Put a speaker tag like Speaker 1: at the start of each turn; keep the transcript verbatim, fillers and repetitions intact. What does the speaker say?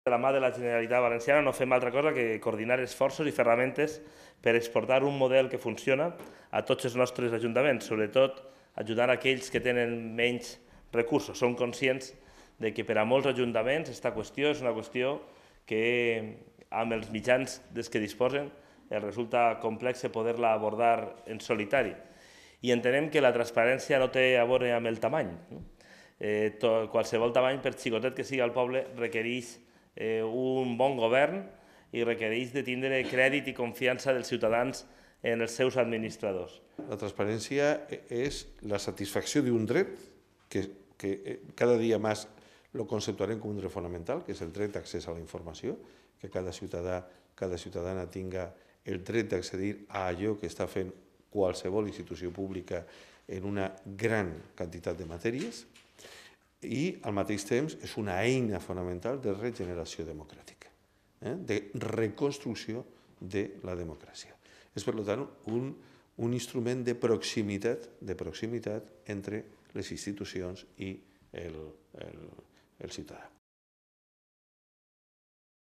Speaker 1: De la mà de la Generalitat Valenciana no fem altra cosa que coordinar esforços i ferramentes per exportar un model que funciona a tots els nostres ajuntaments, sobretot ajudant aquells que tenen menys recursos. Som conscients de que per a molts ajuntaments aquesta qüestió és una qüestió que amb els mitjans dels que disposen els resulta complex poder-la abordar en solitari. I entenem que la transparència no té a veure amb el tamany. Eh, to, qualsevol tamany, per xicotet que sigui el poble, requereix eh, un bon govern i requereix de tindre crèdit i confiança dels ciutadans en els seus administradors.
Speaker 2: La transparència és la satisfacció d'un dret que, que cada dia més lo conceptuarem com un dret fonamental, que és el dret d'accés a la informació, que cada ciutadà, cada ciutadana tinga el dret d'accedir a allò que està fent qualsevol institució pública en una gran quantitat de matèries, i al mateix temps és una eina fonamental de regeneració democràtica, eh? de reconstrucció de la democràcia. És, per tant, un, un instrument de proximitat, de proximitat entre les institucions i el, el, el ciutadà.